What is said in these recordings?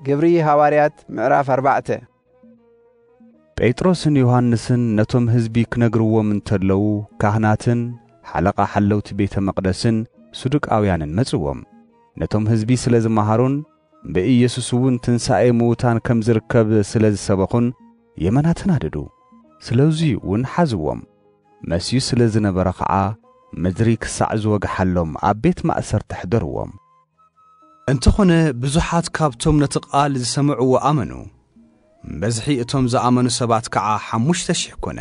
ግብሪ ሃዋርያት ምዕራፍ ኣርባዕተ። ጴጥሮስን ዮሃንስን ነቶም ህዝቢ ክነግርዎም እንተለዉ፣ ካህናትን ሓለቓ ሓለውቲ ቤተ መቕደስን ሱዱቃውያንን መጽዎም። ነቶም ህዝቢ ስለ ዝመሃሩን ብኢየሱስ እውን ትንሳኤ ምዉታን ከም ዝርከብ ስለ ዝሰበኹን የመና ተናደዱ። ስለዚ እውን ሓዝዎም። መስዩ ስለ ዝነበረ ኸዓ ምድሪ ክሳዕ ዝወግሓሎም ኣብ ቤት ማእሰርቲ ኣሕደርዎም። እንተኾነ ብዙሓት ካብቶም ነቲ ቃል ዝሰምዕዎ ኣመኑ። ብዝሒ እቶም ዝኣመኑ ሰባት ከዓ ሓሙሽተ ሽሕ ኮነ።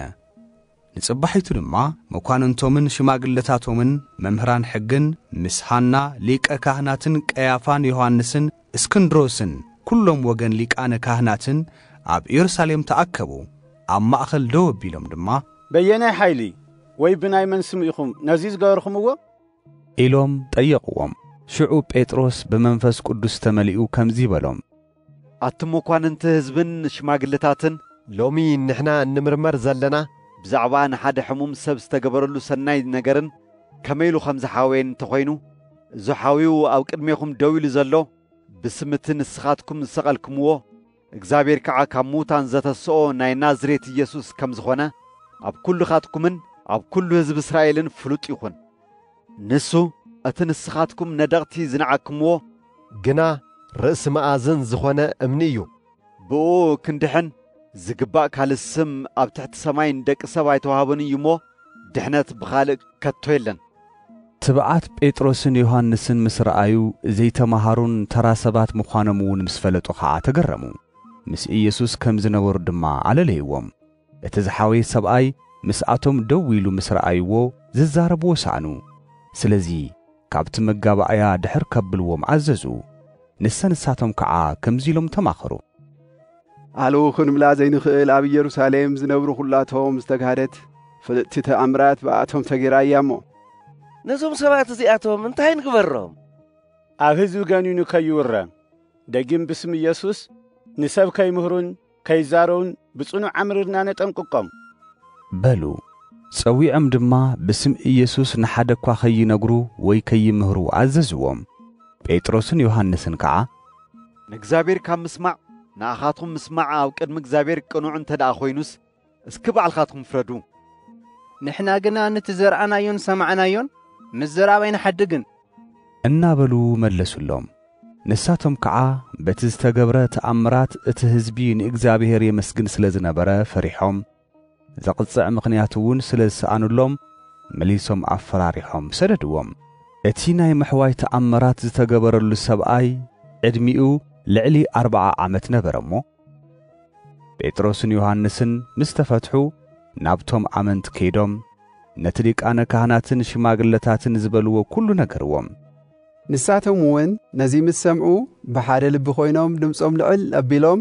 ንጽባሒቱ ድማ መኳንንቶምን ሽማግለታቶምን መምህራን ሕግን ምስ ሃና ሊቀ ካህናትን ቀያፋን ዮሃንስን እስክንድሮስን ኩሎም ወገን ሊቃነ ካህናትን ኣብ ኢየሩሳሌም ተኣከቡ። ኣብ ማእኸል ደው ኣቢሎም ድማ፣ በየናይ ሓይሊ ወይ ብናይ መን ስም ኢኹም ነዚ ዝገበርኹምዎ? ኢሎም ጠየቕዎም። ሽዑ ጴጥሮስ ብመንፈስ ቅዱስ ተመሊኡ ከምዚ በሎም። ኣቱም መኳንንቲ ህዝብን ሽማግለታትን፣ ሎሚ ንሕና እንምርመር ዘለና ብዛዕባ ንሓደ ሕሙም ሰብ ዝተገበረሉ ሰናይ ነገርን ከመይ ኢሉ ከም ዝሓወየን እንተኾይኑ፣ እዚ ሓዊኡ ኣብ ቅድሜኹም ደው ኢሉ ዘሎ ብስም እቲ ንስኻትኩም ዝሰቐልክምዎ፣ እግዚኣብሔር ከዓ ካብ ምዉታን ዘተስኦ ናይ ናዝሬት ኢየሱስ ከም ዝኾነ ኣብ ኩልኻትኩምን ኣብ ኩሉ ህዝቢ እስራኤልን ፍሉጥ ይኹን። ንሱ እቲ ንስኻትኩም ነደቕቲ ዝነዓክምዎ፣ ግና ርእሲ መኣዝን ዝኾነ እምኒ እዩ። ብኡ ክንድሕን ዝግባእ ካልእ ስም ኣብ ትሕቲ ሰማይ ንደቂ ሰብ ኣይተዋህቦን እዩ እሞ፣ ድሕነት ብኻልእ ከቶ የለን። ትብዓት ጴጥሮስን ዮሃንስን ምስ ረኣዩ፣ ዘይተማሃሩን ተራ ሰባት ምዃኖም እውን ምስ ፈለጡ ኸዓ ተገረሙ። ምስ ኢየሱስ ከም ዝነበሩ ድማ ኣለለይዎም። እቲ ዝሓወየ ሰብኣይ ምስኣቶም ደው ኢሉ ምስ ረኣይዎ፣ ዝዛረብዎ ሰኣኑ። ስለዚ ካብቲ መጋባእያ ድሕር ከብልዎም ኣዘዙ። ንሰ ንሳቶም ከዓ ከምዚ ኢሎም ተማኸሩ። ኣለዉ ክንብላ ዘይንኽእል ኣብ ኢየሩሳሌም ዝነብሩ ኹላቶም ዝተጋህደት ፍልጥቲ ተኣምራት ብኣቶም ተገይራ እያ እሞ። ነዞም ሰባት እዚኣቶም እንታይ ንግበሮም? ኣብ ህዝቢ ገኒኑ ከይውረ፣ ደጊም ብስም ኢየሱስ ንሰብ ከይምህሩን ከይዛረቡን ብጽኑዕ ኣምርርና ነጠንቅቆም። በሉ። ጸዊዖም ድማ ብስም ኢየሱስ ንሓደ እኳ ከይነግሩ ወይ ከይምህሩ ኣዘዝዎም። ጴጥሮስን ዮሃንስን ከዓ፣ ንእግዚኣብሔር ካብ ምስማዕ ንኣኻትኩም ምስማዕ ኣብ ቅድሚ እግዚኣብሔር ቅኑዕ እንተ ደኣ ኮይኑስ፣ እስኪ ባዕልኻትኩም ፍረዱ። ንሕና ግና ነቲ ዘርኣናዮን ሰማዕናዮን ምስ ዘራብ ኣይንሓድግን። እናበሉ መለሱሎም። ንሳቶም ከዓ በቲ ዝተገብረ ተኣምራት እቲ ህዝቢ ንእግዚኣብሔር የመስግን ስለ ዝነበረ ፈሪሖም፣ ዘቕጽዕ ምኽንያት እውን ስለ ዝሰኣኑሎም፣ መሊሶም ኣፈራሪሖም ሰደድዎም። እቲ ናይ ምሕዋይ ተኣምራት ዝተገበረሉ ሰብኣይ ዕድሚኡ ልዕሊ ኣርብዓ ዓመት ነበረ እሞ፣ ጴጥሮስን ዮሃንስን ምስ ተፈትሑ፣ ናብቶም ኣመንቲ ከይዶም፣ ነቲ ሊቃነ ካህናትን ሽማግለታትን ዝበልዎ ኩሉ ነገርዎም። ንሳቶም እውን ነዚ ምስ ሰምዑ፣ ብሓደ ልቢ ኮይኖም ድምጾም ልዕል ኣቢሎም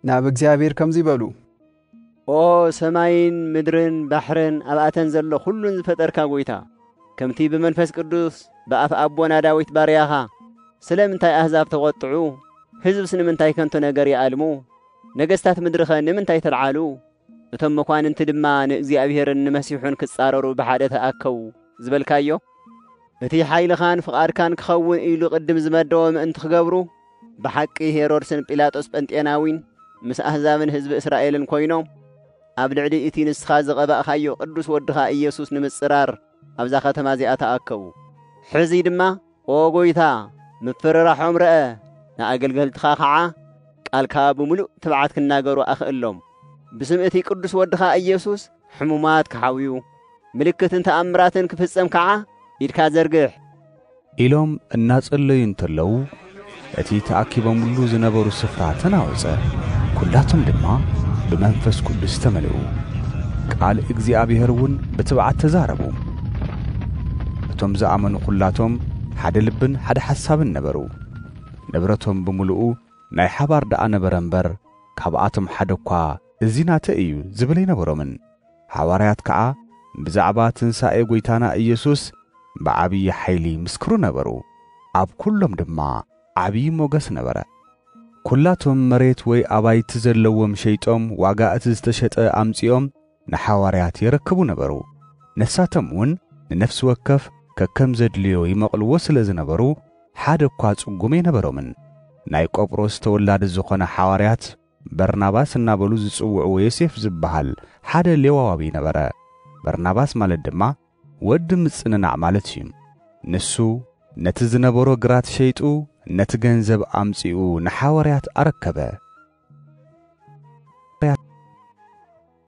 ናብ እግዚኣብሔር ከምዚ በሉ። ኦ ሰማይን ምድርን ባሕርን ኣብኣተን ዘሎ ኩሉን ዝፈጠርካ ጐይታ፣ ከምቲ ብመንፈስ ቅዱስ ብኣፍ ኣቦና ዳዊት ባርያኻ፣ ስለምንታይ ኣህዛብ ተቖጥዑ? ህዝብስ ንምንታይ ከንቱ ነገር ይኣልሙ? ነገስታት ምድሪኸ ንምንታይ ተልዓሉ? እቶም መኳንንቲ ድማ ንእግዚኣብሔርን ንመሲሑን ክጻረሩ ብሓደ ተኣከቡ ዝበልካዮ፣ እቲ ሓይልኻን ፍቓድካን ክኸውን ኢሉ ቅድም ዝመደቦ ምእንቲ ክገብሩ፣ ብሓቂ ሄሮድስን ጲላጦስ ጴንጤናዊን ምስ ኣህዛብን ህዝቢ እስራኤልን ኮይኖም፣ ኣብ ልዕሊ እቲ ንስኻ ዝቐባእካዮ ቅዱስ ወድኻ ኢየሱስ ንምጽራር ኣብዛ ከተማ እዚኣ ተኣከቡ። ሕዚ ድማ፣ ኦ ጐይታ፣ ምፍርራሖም ርአ፣ ንኣገልገልትኻ ኸዓ ቃልካ ብምሉእ ትብዓት ክናገሩ ኣኽእሎም። ብስም እቲ ቅዱስ ወድኻ ኢየሱስ ሕሙማት ክሓውዩ፣ ምልክትን ተኣምራትን ክፍጸም ከኣ ኢድካ ዘርግሕ። ኢሎም እናጸለዩ እንተለዉ፣ እቲ ተኣኪቦምሉ ዝነበሩ ስፍራ ተናወጸ። ኩላቶም ድማ ብመንፈስ ቅዱስ ተመልኡ። ቃል እግዚኣብሔር እውን ብትብዓት ተዛረቡ። እቶም ዝኣመኑ ኩላቶም ሓደ ልብን ሓደ ሓሳብን ነበሩ። ንብረቶም ብምሉኡ ናይ ሓባር ደኣ ነበረ እምበር፣ ካብኣቶም ሓደ እኳ እዚ ናተይ እዩ ዝብል ኣይነበሮምን። ሃዋርያት ከኣ ብዛዕባ ትንሳኤ ጐይታና ኢየሱስ ብዓብዪ ሓይሊ ይምስክሩ ነበሩ። ኣብ ኩሎም ድማ ዓብዪ ሞገስ ነበረ። ኩላቶም መሬት ወይ ኣባይቲ ዘለዎም ሸይጦም ዋጋ እቲ ዝተሸጠ ኣምጺኦም ንሓዋርያት የረክቡ ነበሩ። ንሳቶም እውን ንነፍሲ ወከፍ ከከም ዘድልዮ ይመቕልዎ ስለ ዝነበሩ ሓደ እኳ ጽጉም ኣይነበሮምን። ናይ ቆጵሮስ ተወላዲ ዝኾነ ሓዋርያት በርናባስ እናበሉ ዝጽውዕዎ ዮሴፍ ዝበሃል ሓደ ሌዋዊ ነበረ። በርናባስ ማለት ድማ ወዲ ምጽንናዕ ማለት እዩ። ንሱ ነቲ ዝነበሮ ግራት ሸይጡ ነቲ ገንዘብ ኣምጺኡ ንሓዋርያት ኣረከበ።